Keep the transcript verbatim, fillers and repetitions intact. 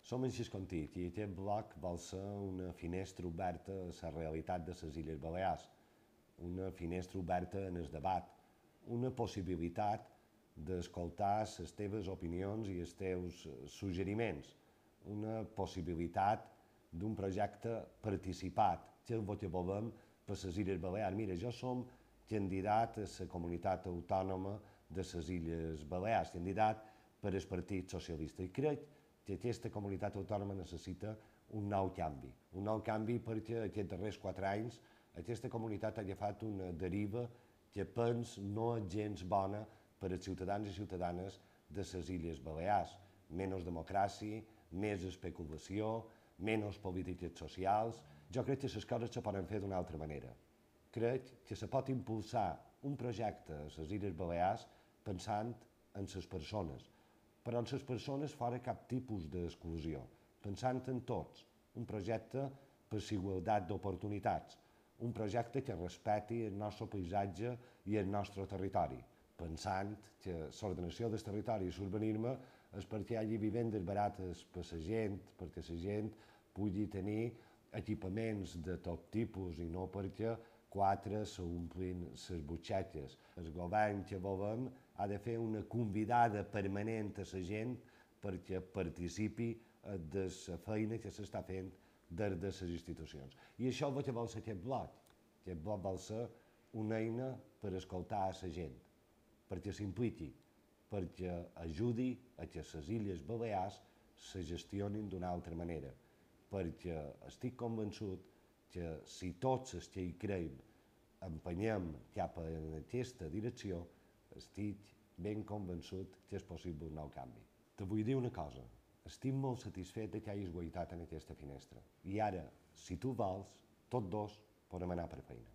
Som en Xiscontit i aquest bloc vol ser una finestra oberta a la realitat de les Illes Balears, una finestra oberta en el debat, una possibilitat d'escoltar les teves opinions i els teus suggeriments, una possibilitat d'un projecte participat, que és el que volem per les Illes Balears. Mira, jo som candidat a la comunitat autònoma de les Illes Balears, candidat per al Partit Socialista, i crec que aquesta comunitat autònoma necessita un nou canvi. Un nou canvi perquè aquests darrers quatre anys aquesta comunitat ha agafat una deriva que pens no és gens bona per als ciutadans i ciutadanes de les Illes Balears. Menys democràcia, més especulació, menys polítiques socials. Jo crec que les coses se poden fer d'una altra manera. Crec que se pot impulsar un projecte a les Illes Balears pensant en les persones, però en les persones fora cap tipus d'exclusió, pensant en tots, un projecte per la igualtat d'oportunitats, un projecte que respecti el nostre paisatge i el nostre territori, pensant que l'ordenació del territori i l'urbanisme és perquè hi hagi vivendes barates per a la gent, perquè la gent pugui tenir equipaments de tot tipus i no perquè quatre s'omplin les butxaques. El govern que volem ha de fer una convidada permanent a la gent perquè participi de la feina que s'està fent des de les institucions. I això és el que vol ser aquest bloc. Aquest bloc vol ser una eina per escoltar a la gent, perquè s'impliqui, perquè ajudi a que les Illes Balears se gestionin d'una altra manera, perquè estic convençut que si tots els que hi creiem empenyem cap a aquesta direcció, estic ben convençut que és possible un nou canvi. Te vull dir una cosa, estic molt satisfet de que hagis guaitat en aquesta finestra. I ara, si tu vols, tots dos podem anar per feina.